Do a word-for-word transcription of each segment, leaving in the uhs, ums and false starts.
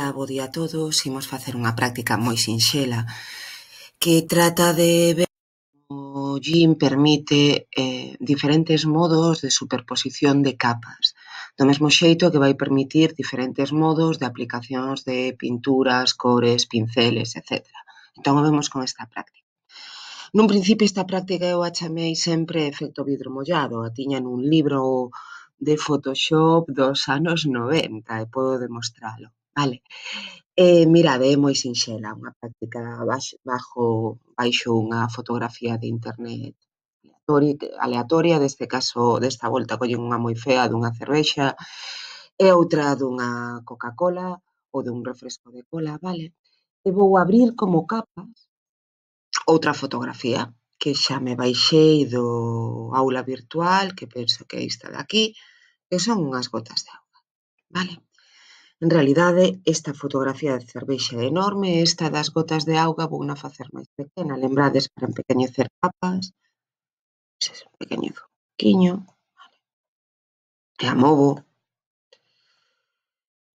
Ola, bo día a todos. Imos facer unha práctica moi sinxela que trata de ver como o Gim permite eh, diferentes modos de superposición de capas. Do mesmo xeito que vai permitir diferentes modos de aplicacións de pinturas, cores, pinceles, etcétera. Entón, o vemos con esta práctica. Nun principio, esta práctica eu a chamei sempre efecto vidro mollado. A tiña nun libro de Photoshop dos anos noventa e podo demostralo. Vale. Eh, mirade, é moi sinxela, unha práctica baixo, bajo, baixo unha fotografía de internet aleatoria, deste caso, desta volta, collen unha moi fea dunha cervexa e outra dunha Coca-Cola ou dun refresco de cola, vale? E vou abrir como capas outra fotografía que xa me baixei do aula virtual, que penso que é esta de aquí, que son unhas gotas de auga, vale? En realidade, esta fotografía de cervexa é enorme e esta das gotas de auga vou na facer máis pequena. Lembrades para empequeñecer capas, pois un pequeñezo un poquinho, vale. E a movo.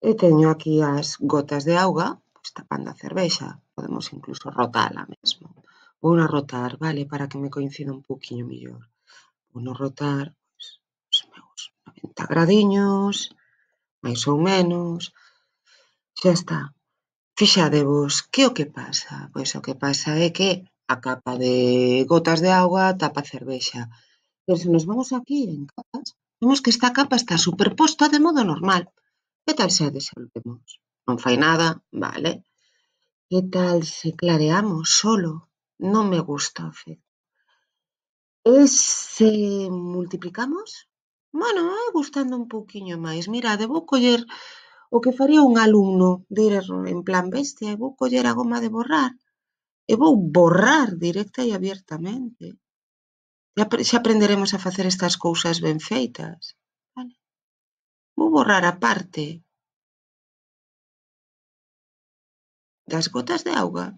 E teño aquí as gotas de auga, pois tapando a cervexa. Podemos incluso rotala mesmo. Vou na rotar, vale, para que me coincida un poquinho mellor. Vou no rotar, pois, os meus noventa gradiños, máis ou menos. Xa está. Fixadevos, que o que pasa? Pois o que pasa é que a capa de gotas de auga tapa a cervexa. Pero se nos vamos aquí en capas, vemos que esta capa está superposta de modo normal. Que tal se a desolvemos? Non fai nada, vale. Que tal se clareamos solo? Non me gusta o efecto. E se multiplicamos? Bueno, é gustando un pouquiño máis. Mirade, vou coller o que faría un alumno de ir en plan bestia, e vou coller a goma de borrar e vou borrar directa e abiertamente. Xa aprenderemos a facer estas cousas ben feitas. Vale. Vou borrar a parte das gotas de auga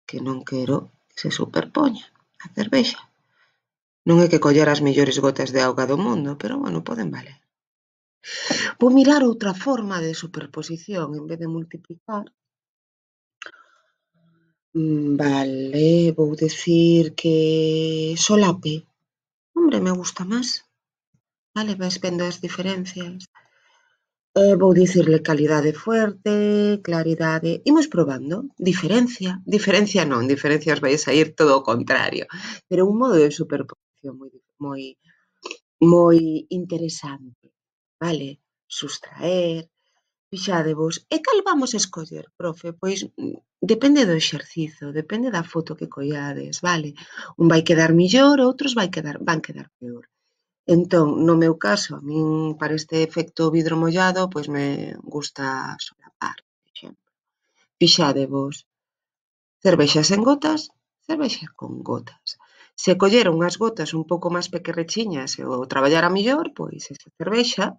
que non quero que se superpoña a cervexa. Non é que coller as mellores gotas de auga do mundo, pero, bueno, poden valer. Vou mirar outra forma de superposición en vez de multiplicar. Vale, vou decir que solape. Hombre, me gusta máis. Vale, vais vendo as diferencias. Eh, vou dicirle calidade fuerte, claridade. Imos probando. Diferencia. Diferencia non, diferencias vai a sair todo o contrario. Pero un modo de superposición moi, moi, moi interesante. Vale, sustraer. Fixadevos, e cal vamos escoller, profe? Pois depende do exercizo, depende da foto que collades, vale? Un vai quedar millor, outros vai quedar, van quedar peor. Entón, no meu caso, a min para este efecto vidro mollado, pois me gusta solapar, por exemplo. Fixadevos, cervexa sen gotas, cervexa con gotas. Se coller unhas gotas un pouco máis pequerrechiñas e o traballara millor, pois esa cervexa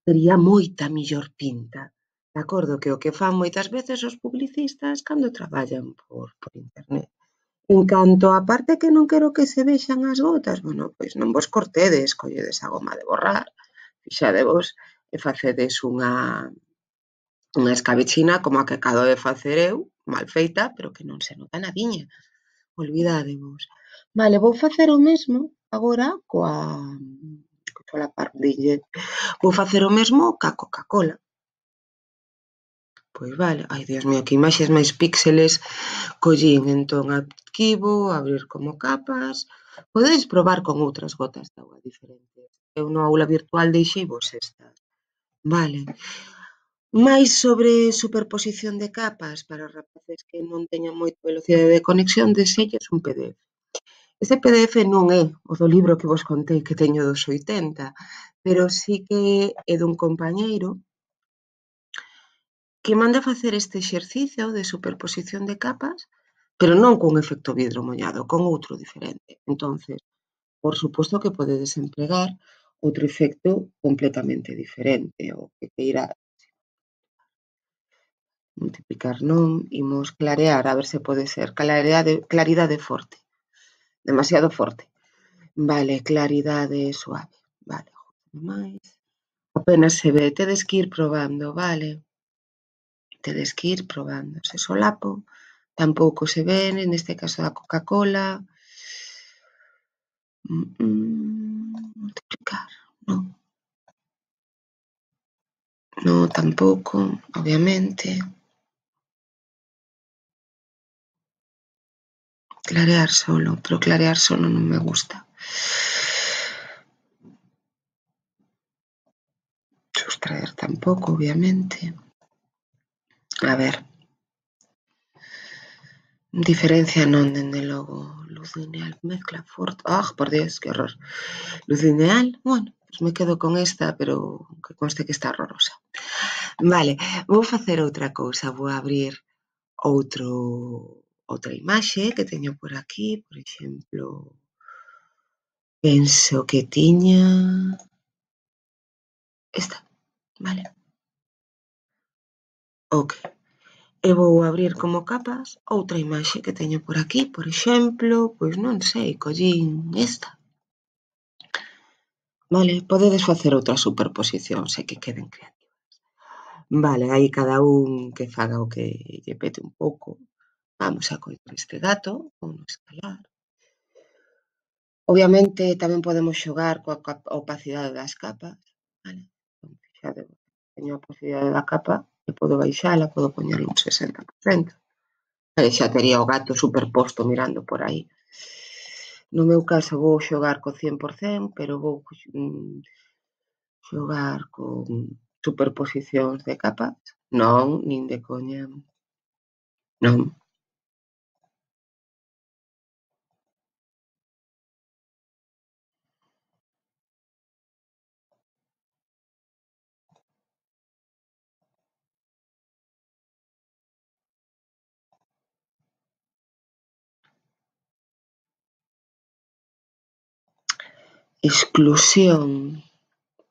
tería moita millor pinta. De acordo, que o que fan moitas veces os publicistas cando traballan por, por internet. En canto á parte que non quero que se vexan as gotas, bueno, pois non vos cortedes, colledes a goma de borrar, fixadevos, e facedes unha, unha escabechina como a que acabo de facer eu, mal feita, pero que non se nota nadiña. Olvidádevos. Vale, vou facer o mesmo agora coa... solapar, dille. Vou facer o mesmo ca Coca-Cola. Pois vale, ai, Dios mío, que imaxes máis píxeles collín. Entón, aquí vou abrir como capas. Podedes probar con outras gotas de auga diferentes. Eu no aula virtual deixeivos estas. Vale. Mais sobre superposición de capas para rapaces que non teñan moita velocidade de conexión, deselles un P D F. Ese P D F non é o do libro que vos contei que teño dos oitenta, pero sí que é dun compañeiro que manda facer este exercicio de superposición de capas, pero non cun efecto vidro mollado, con outro diferente. Entonces, por suposto que podedes emplegar outro efecto completamente diferente, o que queira multiplicar non, imos clarear, a ver se pode ser claridade, claridade forte, demasiado forte. Vale, claridade suave, vale, máis. Apenas se ve, tedes que ir probando, vale. tedes que ir probando. Se solapo, tampouco se ven, neste caso da Coca-Cola. Mm, mm, multiplicar, non. No, tampouco, obviamente. Clarear solo, pero clarear solo non me gusta. Sustraer tampouco, obviamente. A ver. Diferencia non, dende logo. Luz lineal, mezcla forte. Ah, oh, por Dios, que horror. Luz lineal, bueno, pues me quedo con esta, pero que conste que está horrorosa. Vale, vou facer outra cousa. Vou abrir outro outra imaxe que teño por aquí, por exemplo, penso que tiña esta, vale. Ok. E vou abrir como capas outra imaxe que teño por aquí, por exemplo, pois non sei, collín esta. Vale, podedes facer outras superposicións e que queden creativas. Vale, aí cada un que faga o que lle pete un pouco. Vamos a coller este gato, ou no escalar. Obviamente tamén podemos xogar coa opacidade das capas, vale? Xa teño a opacidade da capa e podo baixala, podo poñerle un sesenta por cento. E xa tería o gato superposto mirando por aí. No meu caso vou xogar co cen por cento, pero vou mm, xogar con superposicións de capas. Non, nin de coña. Non. Exclusión.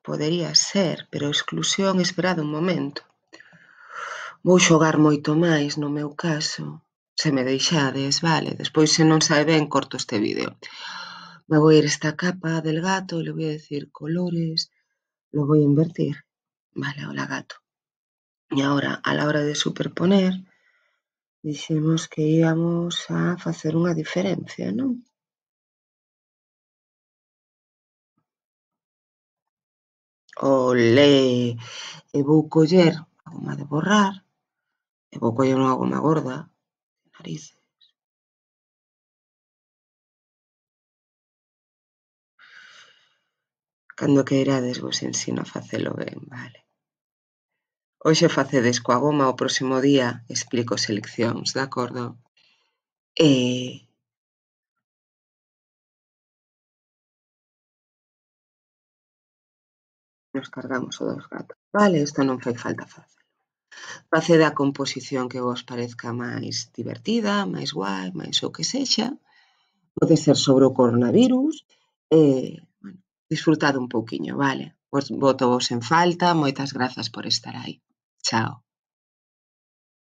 Podería ser, pero exclusión, esperade un momento. Vou xogar moito máis no meu caso, se me deixades, vale, despois se non sae ben corto este vídeo. Me vou ir esta capa del gato, le voy a decir colores, lo voy a invertir, vale, hola gato. E agora, a la hora de superponer, dixemos que íamos a facer unha diferencia, non? Olé! E vou coller a goma de borrar, e vou coller unha goma gorda, narices. Cando queirades vos ensino a facelo ben, vale. Hoxe facedes coa goma, o próximo día explico seleccións, de acordo? E... nos cargamos o dos gatos. Vale, isto non fai falta facer. Facede a composición que vos parezca máis divertida, máis guai, máis o que sexa. Pode ser sobre o coronavirus. E, bueno, disfrutade un pouquiño, vale? Pois botovos en falta, moitas grazas por estar aí. Chao.